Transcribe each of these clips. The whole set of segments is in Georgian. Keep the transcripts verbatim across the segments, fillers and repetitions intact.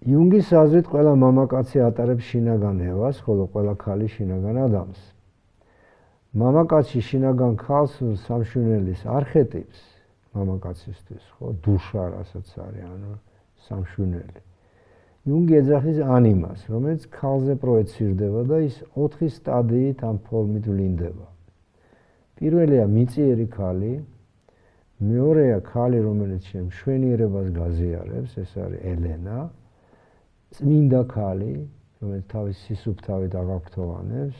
იუნგის აზრით ყველა მამაკაცი ატარებს შინაგან ევას, ხოლო ყველა ქალი შინაგან ადამიანს. მამაკაცი შინაგან ქალს სამშვენელის არხეტიპს მამაკაცისთვის, ხო, დუშა რასაც არის, ანუ სამშვენელი. იუნგი ეძახის ანიმას, რომელიც ქალზე პროეცირდება და ის ოთხი სტადიით ამ ფორმით ვლინდება. პირველია მიწიერი ქალი, მეორეა ქალი, რომელიც მშვენიერებას გაზიარებს, ეს არის ელენა, წმინდა ქალი, რომელიც თავის სისუფთავით აღაფრთოვანებს,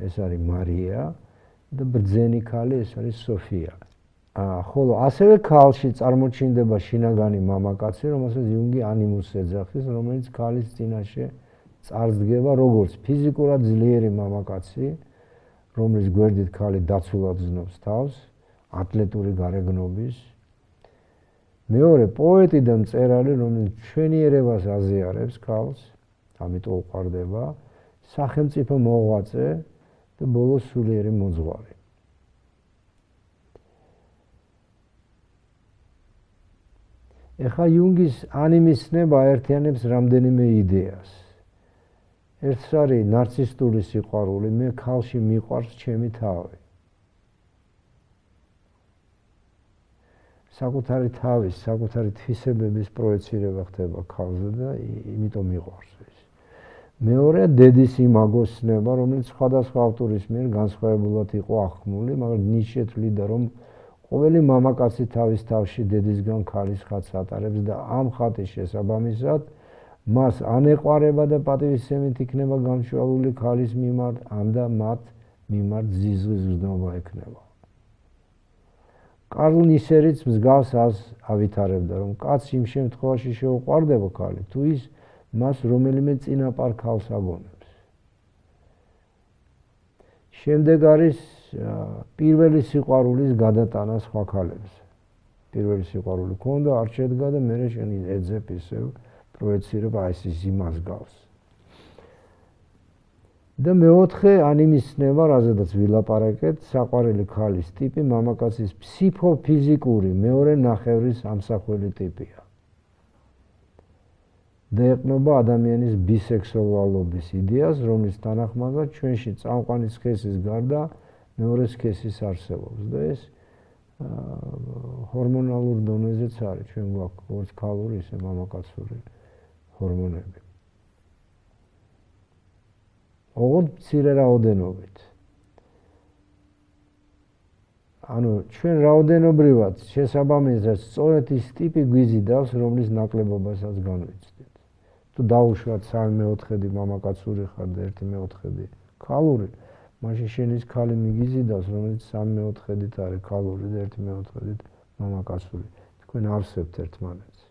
ეს არის მარია და ბრძენი ქალი, ეს არის სოფია. ხოლო ასევე ქალში წარმოჩინდება შინაგანი მამაკაცი, რომელსაც იუნგი ანიმუსს ეძახის, რომელიც ქალის წინაშე წარსდგება როგორც ფიზიკურად ძლიერი მამაკაცი, რომლის გვერდით ქალი დაცულად ზნობს თავს, ატლეტური გარეგნობის. მეორე პოეტი და მწერალი, რომელიც მშვენიერებას აზიარებს ქალს, ამიტომ უყვარდება, სახელმწიფო მოღვაწე და ბოლოს სულიერი მოძღვარი. ეხლა იუნგის ანიმის ცნება აერთიანებს რამდენიმე იდეას. ერთს არის ნარცისტული სიყვარული, მე ქალში მიყვარს ჩემი თავი. საკუთარი თავის, საკუთარი თვისებების პროეცირება ხდება ქალზე და იმიტომ მიყვარს ის. მეორეა დედის იმაგოს ცნება, რომელიც სხვადასხვა ავტორის მიერ განსხვავებულად იყო აღქმული, მაგრამ ნიშე თვლიდა, რომ ყოველი მამაკაცი თავის თავში დედისგან ქალის ხატს ატარებს და ამ ხატის შესაბამისად მას ან ეყვარება და პატივისცემით იქნება გამშვალული ქალის მიმართ, ან და მათ მიმართ ზიზღის გზნობა ექნება. კარლ ნისერიც მსგავს აზრს ავითარებდა, რომ კაცს იმ შემთხვევაში შეუყვარდება ქალი, თუ ის მას რომელიმე წინაპარ ქალს აგონებს. შემდეგ არის პირველი სიყვარულის გადატანა სხვა ქალებზე. პირველი სიყვარული ქონდა, არ შედგა და მერე შენ ეძებ ისევ პროეცირებ აი ეს იმას გავს. და მეოთხე ანიმის ცნება, რაზედაც ვილაპარაკეთ, საყვარელი ქალის ტიპი მამაკაცის ფსიქოფიზიკური მეორე ნახევრის ამსახველი ტიპია. და ეყრდნობა ადამიანის ბისექსუალობის იდეას, რომლის თანახმადაც ჩვენში წამყვანი სქესის გარდა მეორე სქესის არსებობს და ეს ჰორმონალურ დონეზეც არის, ჩვენ გვაქვს როგორც ქალური, ისე მამაკაცური ჰორმონები. ოღონდ მცირე რაოდენობით. ანუ ჩვენ რაოდენობრივად შესაბამისად სწორედ ის ტიპი გვიზიდავს, რომლის ნაკლებობასაც განვიცდით. თუ დაუშვათ სამი მეოთხედი მამაკაცური ხარ და ერთი მეოთხედი ქალური, მაშინ შენის ქალი მიგიზიდავს, რომელიც სამი მეოთხედით არის ქალური და ერთი მეოთხედით მამაკაცური. თქვენ ავსებთ ერთმანეთს.